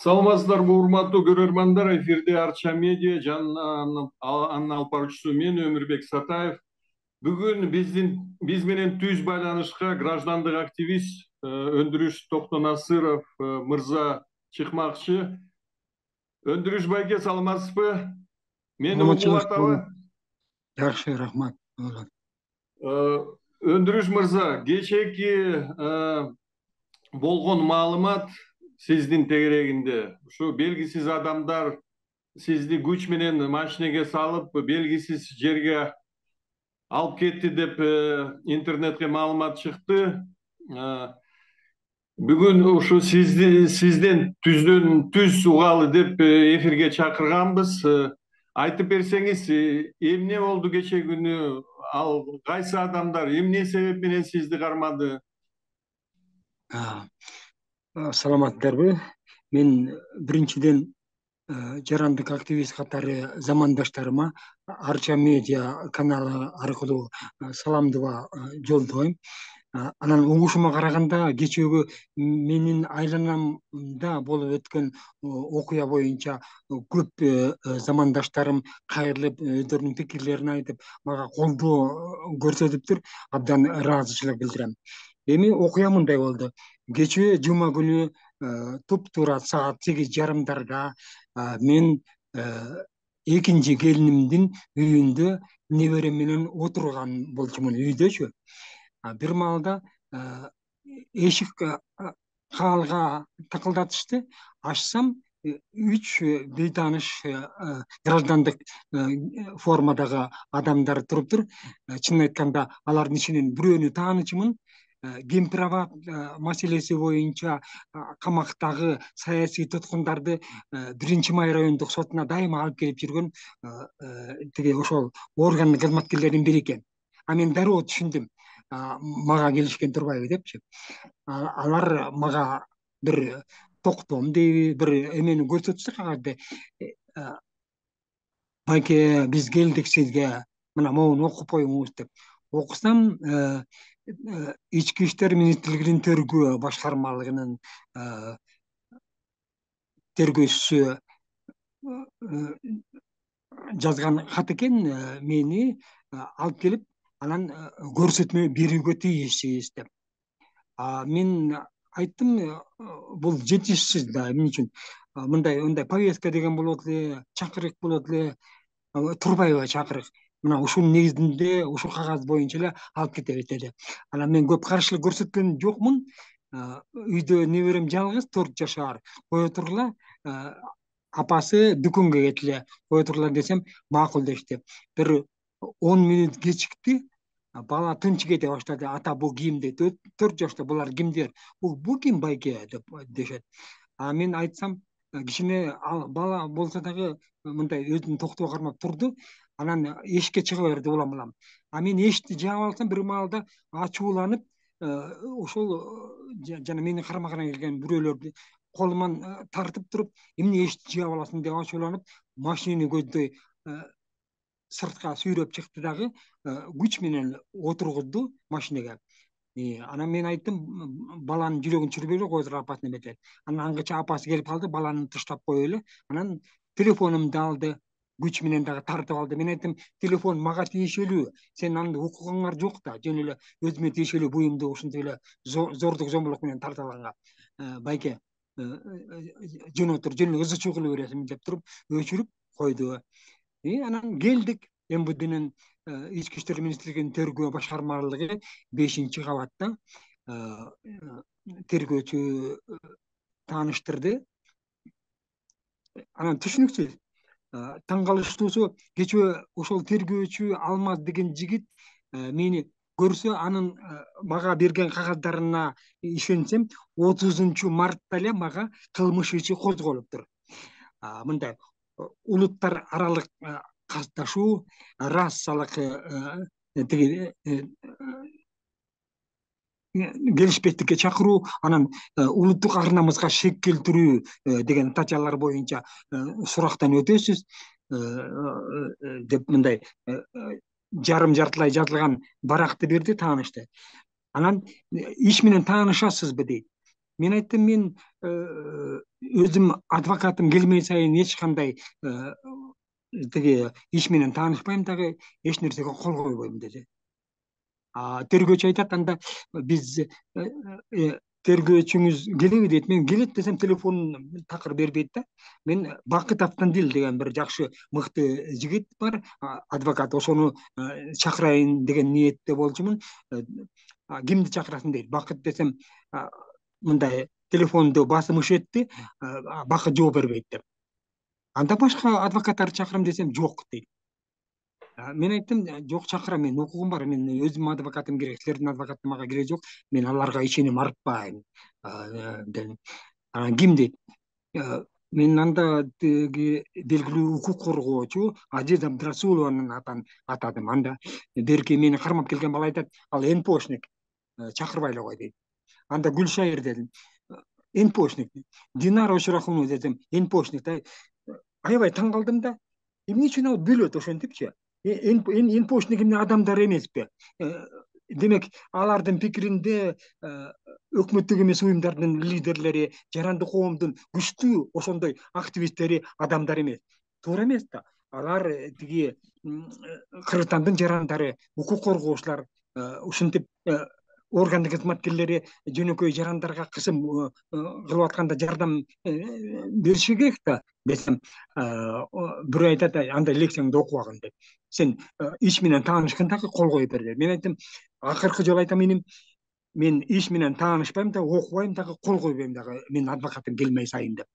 Саламатсыздарбы, урматтуу көрөрмандар. Эфирде Арча медиа жана анын алып баруучусу мен Өмүрбек Сатаев. Бүгүн биз менен түз байланышка граждандык активист Өндүрүш Токтонасыров мырза чыкмакчы. Өндүрүш байке, саламатсызбы? Мени угуп атабы? Жакшы, рахмат. Өндүрүш мырза, кечээки болгон маалымат сиздин тегерегинде ушу белгисиз адамдар сизди күч менен машинеге салып, белгисиз жерге алып кетти деп интернетке маалымат чыкты. Бүгүн ушу сизден түз угалы деп эфирге чакырганбыз. Айтып берсеңиз, эмне болду кечээ күнү? Ал кайсы адамдар эмне себеп менен сизди кармады? Саламаттарбы? Мен биринчиден жарандык активист катары замандаштарыма Арча медиа каналы аркылуу саламдыма жолдойм. Анан угушума караганда кечээкү менин айланамда болуп өткөн окуя боюнча көп замандаштарым кайрылып, өздөрүнүн пикирлерин айтып, мага колдоо көрсөтүптүр. Абдан ыраазычылык билдирем. Эми окуя мындай болду. Кечээ жума күнү туптуура саат 8:30 мен экинчи келинимдин үйүндө неберем менен отурган болчумун, үйдөчү. Бир маалда эшик каалга такылдатышты. Ачсам, 3 бейтааныш граждандык формадагы адамдар туруптур. Чынын айтканда, алардын ичинен бирөөнү таанычумун. Гемпирабад маселеси боюнча камактагы саясий туткундарды 1-Май райондук сотуна дайыма алып келип жүргөн тиги ошол органдын кызматкерлеринин бири экен. Мен дароо түшүндүм, мага келишкен турбайбы депчи. Алар мага бир токтом дейби, бир эмени көрсөтүштү кагазды. Байке, биз келдик сизге, мына могуну окуп коюңуз деп. Окусам, Ички иштер министрлигинин тергөө башкармалыгынын тергөөчүсү жазган кат экен, мени алып келип, анан көрсөтмө берүүгө тийишсиз деп. Мен айттым, бул жетишсиз да, эмне үчүн? Мындай повестка деген болот эле, чакырык болот эле, турбайбы чакырык? Мына ушунун негизинде, ушу кагаз боюнча эле алып кетебиз деди. Анан мен көп каршылык көрсөткөн жокмун. Үйдө неберем жалгыз, 4 жашар. Кое тургула, апасы дүкөнгө кетиле, кое тургула десем, макул дешти. Бир 10 мүнөт кечикти. Бала тынч кете баштады. Ата, бул ким дейт. 4 жашта, булар кимдер? Бул ким байке деп дешет. Мен айтсам, кичине бала болсо дагы мындай өзүн токтоо кармап турду. Анан эшикке чыга берди улам-улам. Мен эшикти жаап алсам, бир маалда ачууланып, ошол жана менин карама-карай келген бирөөлөрдү колуман тартып туруп, эмне эшикти жаап аласың деп ачууланып, машинени көздөй сыртка сүйрөп чыкты дагы күч менен отургузду машинеге. Анан мен айттым, баланын жүрөгүн чүрбөйлө, кое туруп апасына бергиле. Анан аңгыча апасы келип калды, баланы таштап коелу. Анан телефонумду алды, күч менен дагы тартып алды. Мен айттым, телефон мага тиешелүү, сенин анда укугуңар жок да, жөн эле өзүмө тиешелүү буюмду ушинтип эле зордук зомбулук менен тартып алганга. Байке, жөн отур, жөн эле ызы чуу кыла бересиң деп туруп өчүрүп койду. Анан келдик МВДнын Ички иштер министрлигинин тергөө башкармалыгы 5-кабатта тергөөчү тааныштырды. Анан түшүнүксүз, таң калыштуусу, кечээ ошол тергөөчү Алмаз деген жигит мени көрсө, анын мага берген кагаздарына ишенсем, 30-мартта эле мага кылмыш иши козголуптур. Мындай улуттар аралык катташуу, расалык келишпестикке чакыруу, анан улуттук ар-намыска шек келтирүү деген статьялар боюнча сурактан өтөсүз деп мындай жарым-жартылай жазылган баракты берди, таанышты. Анан иш менен таанышасызбы дейт. мен айттым, мен өзүм адвокатым келмей сайын эч кандай тиги иш менен таанышпайм дагы, эч нерсеге кол койбойм деди. Тергөөчү айтат, анда биз тергөөчүңүз келеби дейт. Мен келет десем телефонун такыр бербейт да. Мен Бакыт Автандил деген бир жакшы мыкты жигит бар, адвокат, ошону чакырайын деген ниетте болчумун. Кимди чакырасың дейт. Бакыт десем, мындай телефонду басымыш этти, Бакыт жооп бербейт деп. Анда башка адвокаттарды чакырам десем, жок дейт. Мен айттым, жок, чакырам, мен укугум бар, мен өзүм адвокатым керек, силердин адвокаты мага кереги жок, мен аларга ишеним артпайм дедим. Ким дейт? Мен анда тиги белгилүү укук коргоочу Азиз Абдрасулованын атын атадым. Анда берки мени кармап келген бала айтат, ал НПОшник, чакырбай эле кой дейт. Анда Гүлшайыр дедим, НПОшник. Динара Ошурахунова десем, НПОшник. Аябай таң калдым да, эмне үчүн ал бөлөт ошентипчи? НПОшник эмне адамдар эмеспи? Демек, алардын пикиринде өкмөттүк эмес уюмдардын лидерлери, жарандык коомдун күчтүү ошондой активисттери адамдар эмес. Туура эмес да. Алар тиги Кыргызстандын жарандары, укук коргоочулар, ушинтип органдык кызматкерлери жөнөкөй жарандарга кысым кылып атканда жардам бериши керек да десем, бирөө айтат, андай лекцияңды окубагын деп. Сен иш менен таанышкандагы кол коюп бер деп. Мен айттым, акыркы жолу айтам, мен иш менен таанышпайм да, окубайм дагы, кол койбойм дагы, мен адвокатым келмей сайын деп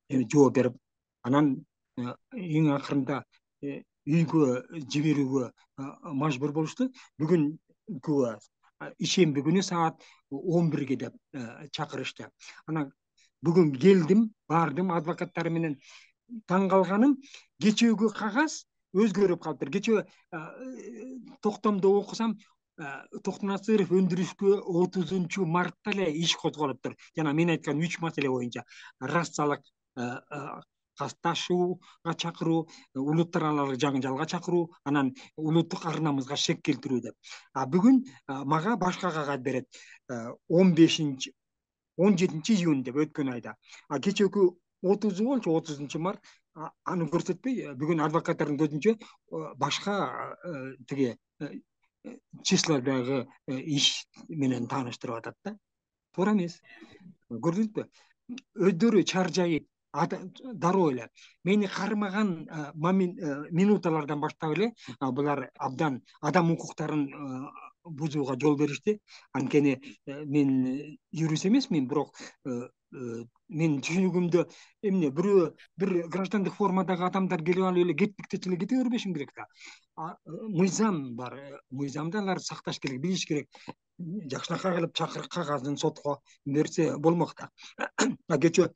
жооп берип, анан эң акырында үйгө жиберүүгө мажбур болушту. Бүгүnkү ишемби күнү саат 11 деп чакырышты. Анан бүгүн келдим, бардым адвокаттары менен. Таң калганым, кечээкү кагаз өзгөрүп калыптыр. Кечээ токтомдо окусам, Токтонасыров өндүрүшкө 30 мартта эле иш козголуптур. Жана мен айткан 3 маселе боюнча: расалык касташууга чакыруу, улуттар аралык жаңжалга чакыруу, анан улуттук ар намыска шек келтирүү деп. Бүгүн мага башка кагаз берет. 17 июнь деп, өткөн айда. Кечээкү 30 болчу, 30 март, аны көрсөтпөй, бүгүн адвокаттардын көзүнчө башка тиги числадагы иш менен тааныштырып атат да. Туура эмес. Көрдүңүзбү? Өздөрү чаржайып, дароо эле мени кармаган минуталардан баштап эле булар абдан адам укуктарын бузууга жол беришти. Анткени мен юрист эмесмин, бирок мен түшүнүгүмдө эмне, бир граждандык формадагы адамдар келип алып эле кеттик эле кете бербешим керек да. Мыйзам бар, мыйзамды алар сакташ керек, билиш керек. Жакшынакай кылып чакырып кагазын сотко берсе болмок да. Кечээ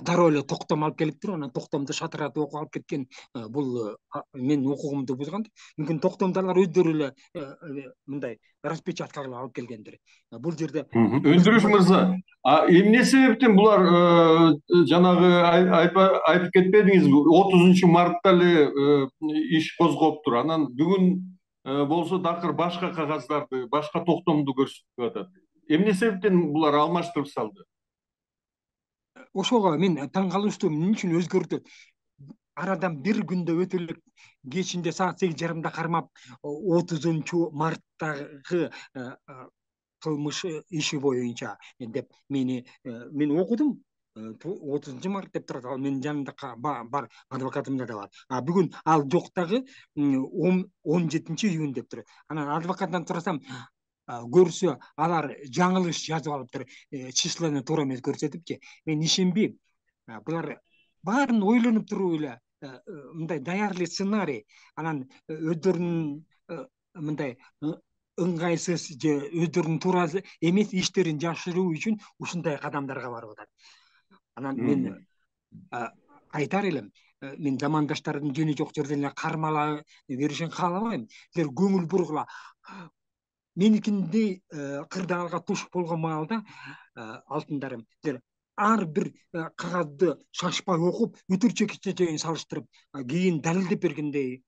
дароо эле токтом алып келиптир, анан токтомду шатыратып окуп алып кеткен. Бул менин укугумду бузган. Мүмкүн токтомду алар өздөрү эле мындай распечатка кылып алып келгендир. Бул жерде Өндүрүш мырза, эмне себептен булар жанагы айтып кетпедиңизби, 30 мартта эле иш козгоптур. Анан бүгүн болсо дакыр башка кагаздарды, башка токтомду көрсөтүп атат. Эмне себептен булар алмаштырып салды? Ошого мен таң калыштуу, эмне үчүн өзгөрдү? Арадан бир күндө өтө элек кечинде саат 8:30 кармап, 30 марттагы кылмыш иши боюнча деп мен окудум. 30 март деп турат, ал менин жанымда бар, адвокатымда да бар. Бүгүн ал жок дагы, 17 июнь деп турат. Анан адвокаттан сурасам, көрсө алар жаңылыш жазып алыптыр, числону туура эмес көрсөтүпчү. Мен ишенбейм. Булар баарын ойлонуп туруп эле мындай даярдуу сценарий, анан өздөрүнүн мындай ыңгайсыз же өздөрүнүн туура эмес иштерин жашыруу үчүн ушундай кадамдарга барып атат. Анан мен айтар элем, мен замандаштардын жөнү жок жерден эле кармала беришин каалабайм. Силер көңүл бургула. Меникиндей кырдаалга туш болгон маалда, алтындарым, силер ар бир кагазды шашпай окуп өтүр чекичеин салыштырып кийин далилдеп бергендей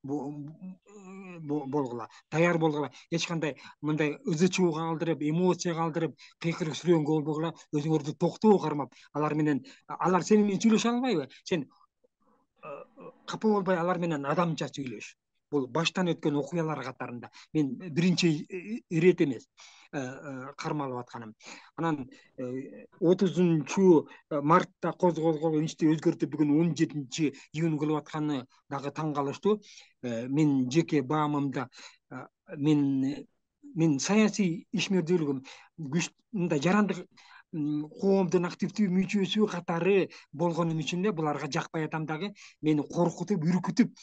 болгула, даяр болгула, эч кандай мындай ызы чуу калтырып, эмоция калтырып, кыйкырып сүрөнгө болбогула, өзүңөрдү токтоо кармап, алар менен алар сени менен сүйлөшө албайбы? Сен капа болбой алар менен адамча сүйлөш. Бул баштан өткөн окуялар катарында. Мен биринчи ирет эмес кармалып атканым. Анан 30 мартта козголгон ишти өзгөртүп бүгүн 17-июнь кылып атканы дагы таң калыштуу. Мен жеке баамымда мен саясий ишмердүүлүгүм мындай жарандык коомдун активдүү мүчөсү катары болгонум үчүн эле буларга жакпай атам дагы, мени коркутуп, үркүтүп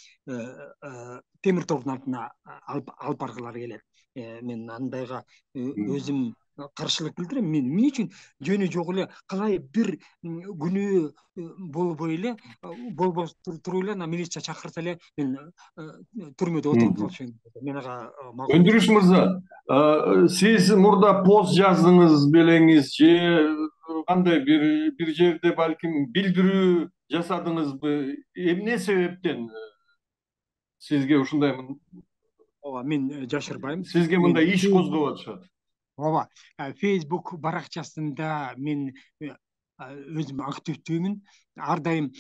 темир тордун артына алып баргылары келет. Мен андайга өзүм каршылык билдирем. Мен эмне үчүн жөнү жок эле калай бир күнөө болбой эле болбос туруп эле милиция чакырса эле мен түрмөдө отуруп калышым. Мен ага макул. Өндүрүш мырза, сиз мурда пост жаздыңыз белеңиз же кандай бир жерде балким билдирүү жасадыңызбы? Эмне себептен сизге ушундай ооба, мен жашырбайм. сизге мындай иш козгоп атышат? Ооба, Facebook баракчасында мен өзүм активдүүмүн. Ар дайым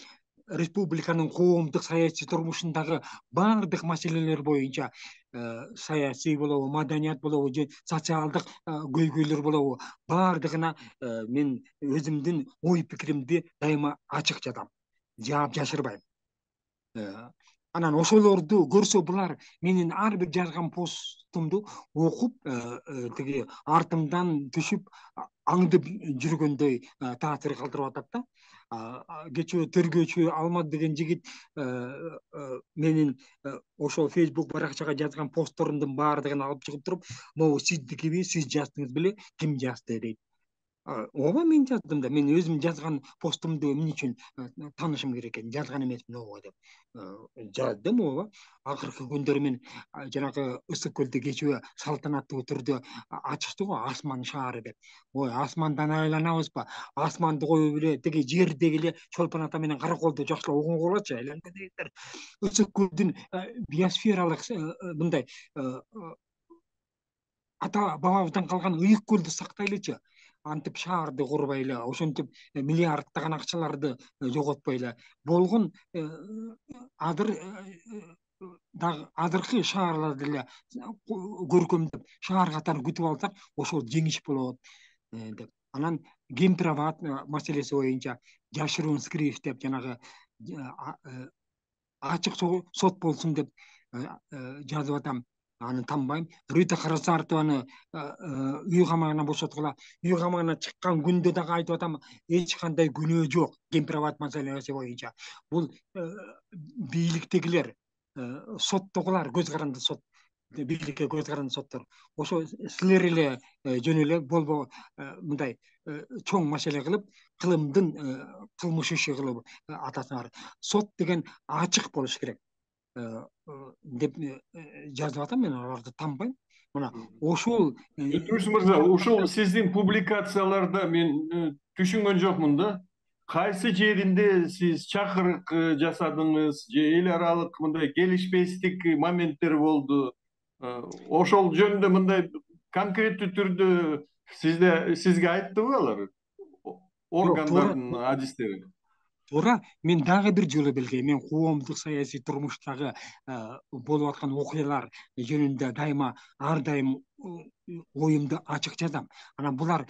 республиканын коомдук саясий турмушундагы баардык маселелер боюнча, саясий болобу, маданият болобу же социалдык көйгөйлөр болобу, баардыгына мен өзүмдүн ой пикиримди дайыма ачык жатам, жаап жашырбайм. Анан ошолорду көрсө булар менин ар бир жазган постумду окуп, тиги артымдан түшүп аңдып жүргөндөй таасир калтырып атат да. Кечээ тергөөчү Алмаз деген жигит менин ошол Facebook баракчага жазган постторумдун баардыгын алып чыгып туруп, могу сиздикиби, сиз жаздыңыз беле, ким жазды дейт. Ооба, мен жаздым да. Мен өзүм жазган постумду эмне үчүн таанышым керек экен, жазган эмесмин ооба деп жаздым. Ооба, акыркы күндөрү мен жанагы Ысык көлдө кечээ салтанаттуу түрдө ачышты го Асман шаары деп. Ой, асмандан айланабызбы? Асманды коюп эле тиги жердеги эле Чолпон ата менен Караколду жакшылап угунгулачы, айланбай дегендер. Ысык көлдүн биосфералык мындай ата бабабыздан калган ыйык көлдү сактайлычы. Антип шаарды курбай эле, ошентип миллиарддаган акчаларды жоготпой эле болгон азыркы шаарларды эле көркөмдөп шаар катары күтүп алсак, ошол жеңиш болот деп. Анан Кемпир-Абад маселеси боюнча Жашыруун Скриев деп жанагы ачык сот болсун деп жазып атам. Аны танбайм. Рита Карасартованы үй камагынан бошоткула. Үй камагынан чыккан күндө дагы айтып атам, эч кандай күнөө жок Кемпир-Абад маселеси боюнча. Бул бийликтегилер, соттогулар көз каранды сот, бийликке көз каранды соттор. Ошо силер эле жөн эле болбо мындай чоң маселе кылып, кылымдын кылмыш иши кылып атасыңар. Сот деген ачык болуш керек деп жазып атам. Мен аларды танбайм. Мына ошол Өндүрүш мырза, ушул сиздин публикацияларда мен түшүнгөн жокмун да. Кайсы жеринде сиз чакырык жасадыңыз же эл аралык мындай келишпестик моменттер болду? Ошол жөнүндө мындай конкреттүү түрдө сизге айттыбы алар? Органдардын адистери? Туура, мен дагы бир жолу белгилейм. Мен коомдук саясий турмуштагы болуп аткан окуялар жөнүндө дайыма ар дайым оюмду ачык жазам. Анан булар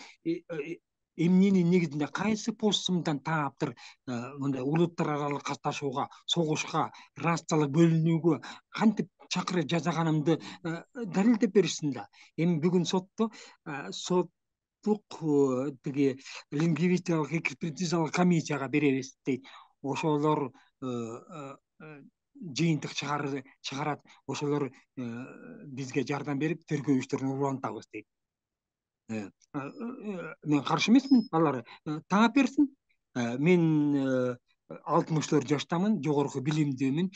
эмненин негизинде, кайсы постумдан тааптыр мындай улуттар аралык катташууга, согушка, расалык бөлүнүүгө кантип чакырып жасаганымды далилдеп беришсин да. Эми бүгүн сотто тиги лингвистикалык экспертизалык комиссияга беребиз дейт. Ошолор жыйынтык чыгарат, ошолор бизге жардам берип тергөө иштерин улантабыз дейт. Мен каршы эмесмин, алар таап берсин. Мен 64 жаштамын, жогорку билимдүүмүн.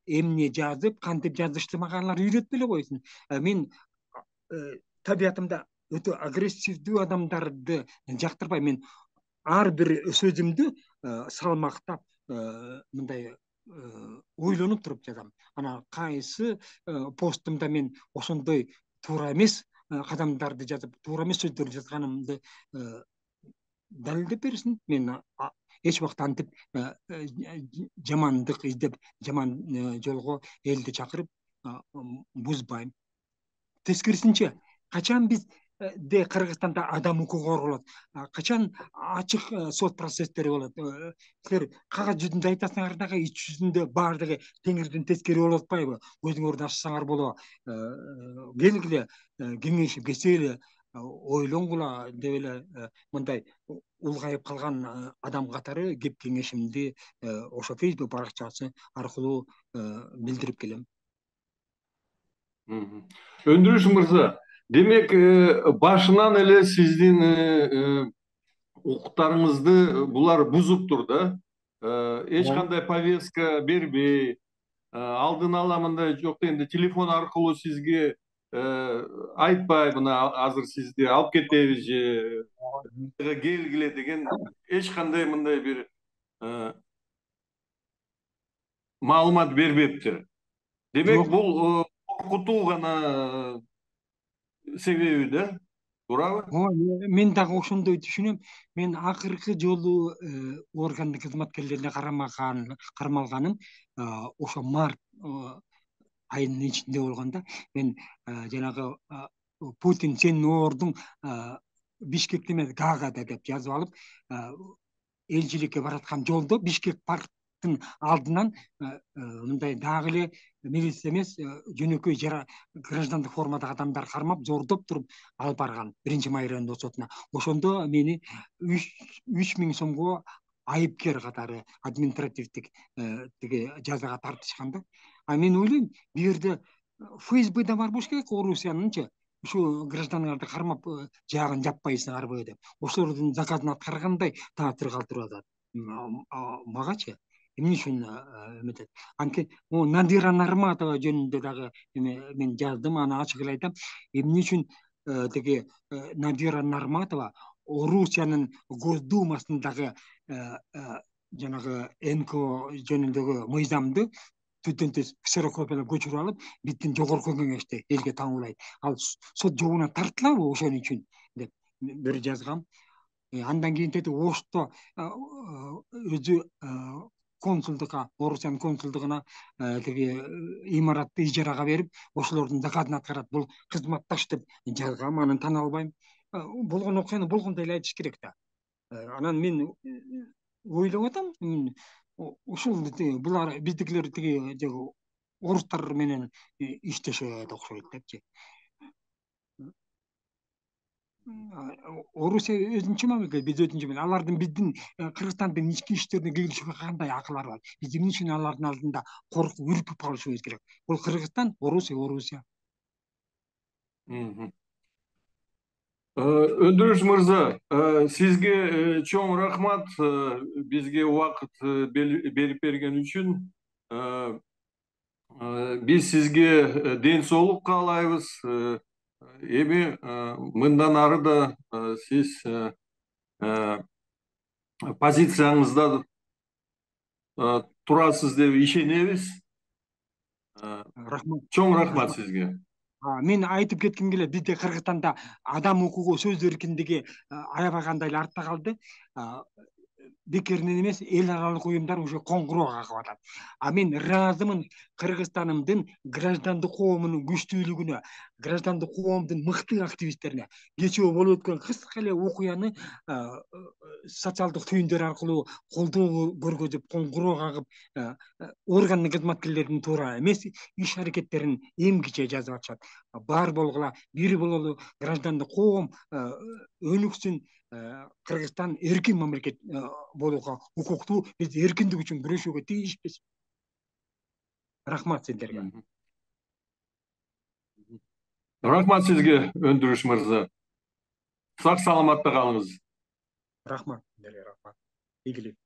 Эмне жазып, кантип жазышты мага алар үйрөтпөй эле койсун. Мен табиятымда өтө агрессивдүү адамдарды жактырбайм. Мен ар бир сөзүмдү салмактап мындай ойлонуп туруп жазам. Анан кайсы постумда мен ошондой туура эмес кадамдарды жазып, туура эмес сөздөрдү жазганымды далилдеп берсин. Мен эч убакта антип жамандык издеп, жаман жолго элди чакырып бузбайм. Тескерисинче, качан бизде Кыргызстанда адам укугу корголот, качан ачык сот процесстери болот? Силер кагаз жүзүндө айтасыңар дагы, ич жүзүндө баардыгы теңирден тескери болуп атпайбы? Көзүңөрдү ачсаңар болобу? Келгиле, кеңешип кесели, ойлонгула деп эле мындай улгайып калган адам катары кеп кеңешимди ошо Facebook баракчасы аркылуу билдирип келем. Өндүрүш мырза, демек башынан эле сиздин укуктарыңызды булар бузуптур да. Эч кандай повестка бербей, алдын ала мындай жок дегенде телефон аркылуу сизге айтпай, мына азыр сизди алып кетебиз же келгиле деген эч кандай мындай бир маалымат бербептир. Демек бул коркутуу гана себеби да, туурабы? Мен дагы ошондой түшүнөм. Мен акыркы жолу органдык кызматкерлерине кармалганым ошо март айынын ичинде болгондо, мен жанагы Путин сен ордуң Бишкекте эмес, Гаагада деп жазып алып, элчиликке бараткан жолдо Бишкек парктын алдынан мындай дагы эле милиция эмес, жөнөкөй граждандык формадагы адамдар кармап, зордоп туруп алып барган 1-май райондогу сотуна. Ошондо мени 3000 сомго айыпкер катары административдик тиги жазага тартышкан да. Мен ойлойм, бул жерде ФСБ бар болуш керек, Орусиянынчы. Ушу граждандарды кармап жаагын жаппайсыңарбы деп. Ошолордун заказын аткаргандай таасир калтырып атат магачы. Эмне үчүн эметет? Анткени Надира Нарматова жөнүндө дагы мен жаздым, аны ачык эле айтам. Эмне үчүн тиги Надира Нарматова Орусиянын Госдумасындагы жанагы НКО жөнүндөгү мыйзамды түздөн түз ксерокопиялап көчүрүп алып, биздин жогорку кеңеште элге таңуулайт. Ал сот жобуна тартылабы ошон үчүн деп бир жазгам. Андан кийин Ошто өзү консулдукка, Орусиянын консулдугуна тиги имаратты ижарага берип, ошолордун заказын аткарат. Бул кызматташ деп жазгам, аны тана албайм. Болгон окуяны болгондой эле айтыш керек да. Анан мен ойлоп атам, ушул булар биздикилер тиги орустар менен иштешет окшойт депчи. Орусия өзүнчө мамлекет, биз өзүнчө мамлекет. Алардын биздин Кыргызстандын ички иштерине киргизүүгө кандай акылары бар? Биз эмне үчүн алардын алдында коркуп, үркүп калышыбыз керек? Бул Кыргызстан, Орусия. Өндүрүш мырза, сизге чоң рахмат бизге убакыт берип берген үчүн. Биз сизге ден соолук каалайбыз. Эми мындан ары да сиз позицияңызда турасыз деп ишенебиз. Рахмат. Чоң рахмат сизге. Мен айтып кетким келет, бизде Кыргызстанда адам укугу, сөз эркиндиги аябагандай эле артта калды. Бекеринен эмес, эл аралык уюмдар уже коңгуроо кагып атат. Мен ыраазымын Кыргызстанымдын граждандык коомунун күчтүүлүгүнө, граждандык коомдун мыкты активисттерине. Кечээ болуп өткөн кыска эле окуяны социалдык түйүндөр аркылуу колдоо көргөзүп, коңгуроо кагып, органдын кызматкерлеринин туура эмес иш аракеттерин эмгиче жазып атышат. Бар болгула, бир бололу, граждандык коом өнүксүн. Кыргызстан эркин мамлекет болууга укуктуу, биз эркиндик үчүн күрөшүүгө тийишпиз. Рахмат сиздерге. Рахмат сизге, Өндүрүш мырза. Сак саламатта калыңыз. Рахмат сиздерге, рахмат. Ийгилик.